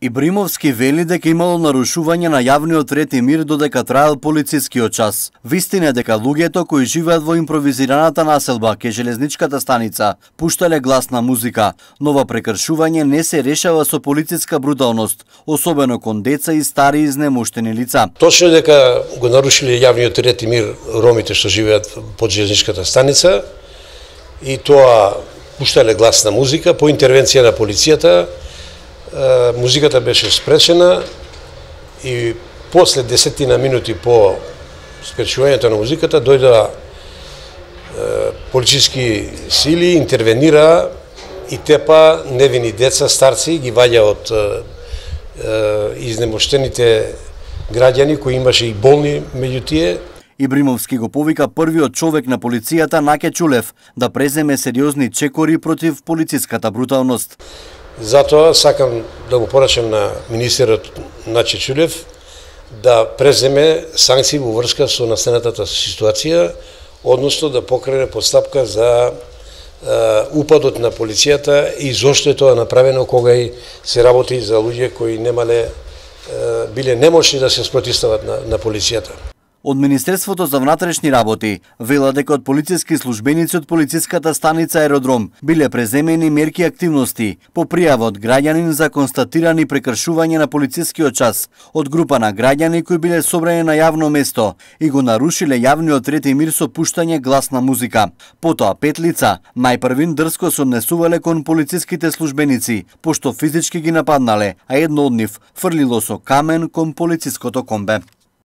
Ибримовски вели дека имало нарушување на јавниот ред и мир додека траел полицискиот час. Вистина е дека луѓето кои живеат во импровизираната населба ке железничката станица пуштале гласна музика, но ова прекршување не се решава со полициска бруталност, особено кон деца и стари изнемоштени лица. Точно дека го нарушиле јавниот ред и мир ромите што живеат под железничката станица и тоа пуштале гласна музика по интервенција на полицијата. Музиката беше спречена и после 10 минути по спречувањето на музиката дојдоа полициски сили, интервенира и тепа невини деца, старци, ги ваѓа од изнемоштените граѓани кои имаше и болни меѓу тие. Ибримовски го повика првиот човек на полицијата Наке Чулев да преземе сериозни чекори против полициската бруталност. Затоа сакам да го порачам на министерот Наке Чулев да преземе санкции во врска со настанатата ситуација, односно да покрене постапка за упадот на полицијата и зошто е тоа направено кога и се работи за луѓе кои биле немошни да се спротивстават на полицијата. Од Министерството за внатрешни работи вела дека од полициски службеници од полициската станица Аеродром биле преземени мерки и активности по пријава од граѓанин за констатирани прекршување на полицискиот час од група на граѓани кои биле собрани на јавно место и го нарушиле јавниот ред и мир со пуштање гласна музика. Потоа 5 лица најпрвин дрско се однесувале кон полициските службеници, пошто физички ги нападнале, а едно од нив фрлило со камен кон полициското комбе.